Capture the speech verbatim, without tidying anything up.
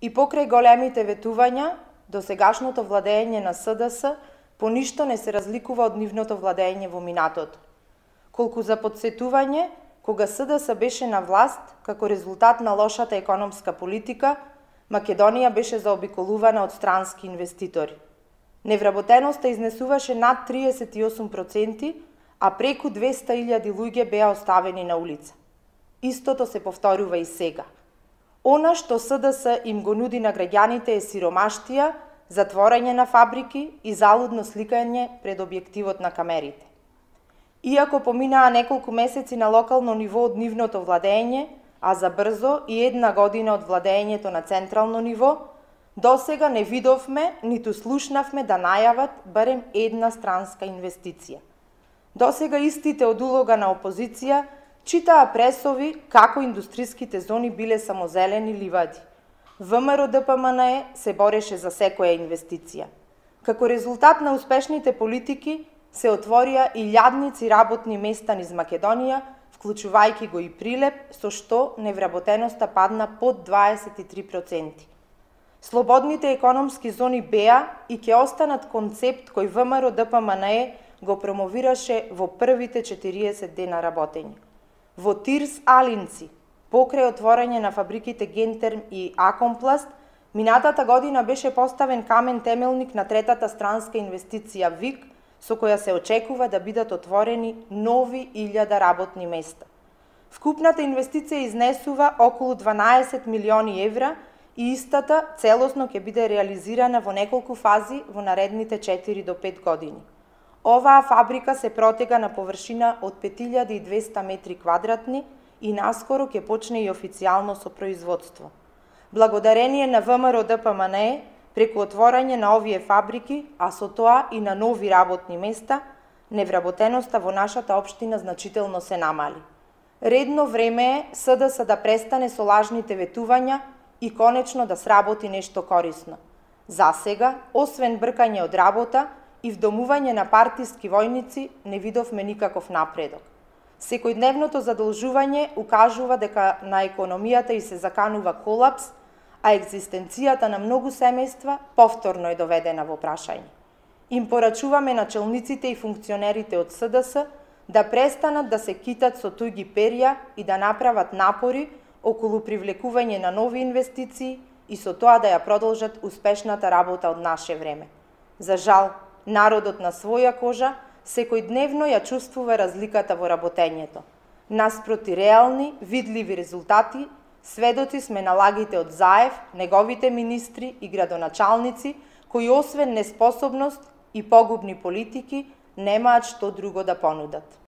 И покрај големите ветувања, досегашното владење на С Д С по ништо не се разликува од нивното владење во минатото. Колку за подсетување, кога С Д С беше на власт, како резултат на лошата економска политика, Македонија беше заобиколувана од странски инвеститори. Невработеноста изнесуваше над триесет и осум проценти, а преку двеста илјади луѓе беа оставени на улица. Истото се повторува и сега. Она што С Д С им го нуди на граѓаните е сиромаштија, затворање на фабрики и залудно сликање пред објективот на камерите. Иако поминаа неколку месеци на локално ниво од нивното владење, а за брзо и една година од владењето на централно ниво, досега не видовме, ниту слушнавме да најават барем една странска инвестиција. Досега истите од улога на опозиција читаа пресови како индустриските зони биле само зелени ливади. В М Р Д П М Н Е се бореше за секоја инвестиција. Како резултат на успешните политики се отворија илјадници работни места низ Македонија, вклучувајќи го и Прилеп, со што невработеноста падна под дваесет и три проценти. Слободните економски зони беа и ќе останат концепт кој В М Р Д П М Н Е го промовираше во првите четириесет дена работење. Во Тирс Алинци, покрај отворање на фабриките Гентерм и Акомпласт, минатата година беше поставен камен темелник на третата странска инвестиција ВИК, со која се очекува да бидат отворени нови илјада работни места. Вкупната инвестиција изнесува околу дванаесет милиони евра и истата целосно ќе биде реализирана во неколку фази во наредните четири до пет години. Оваа фабрика се протега на површина од пет илјади и двесте метри квадратни и наскоро ќе почне и официјално со производство. Благодарение на В М Р Д П М Н Е, преку отворање на овие фабрики, а со тоа и на нови работни места, невработеноста во нашата општина значително се намали. Редно време е С Д С да престане со лажните ветувања и конечно да сработи нешто корисно. Засега, освен бркање од работа и вдомување на партиски војници, не видовме никаков напредок. Секојдневното задолжување укажува дека на економијата и се заканува колапс, а екзистенцијата на многу семејства повторно е доведена во прашање. Им порачуваме начелниците и функционерите од С Д С да престанат да се китат со туѓи перја и да направат напори околу привлекување на нови инвестиции и со тоа да ја продолжат успешната работа од наше време. За жал, народот на своја кожа секојдневно ја чувствува разликата во работењето. Наспроти реални, видливи резултати, сведоци сме на лагите од Заев, неговите министри и градоначалници, кои освен неспособност и погубни политики, немаат што друго да понудат.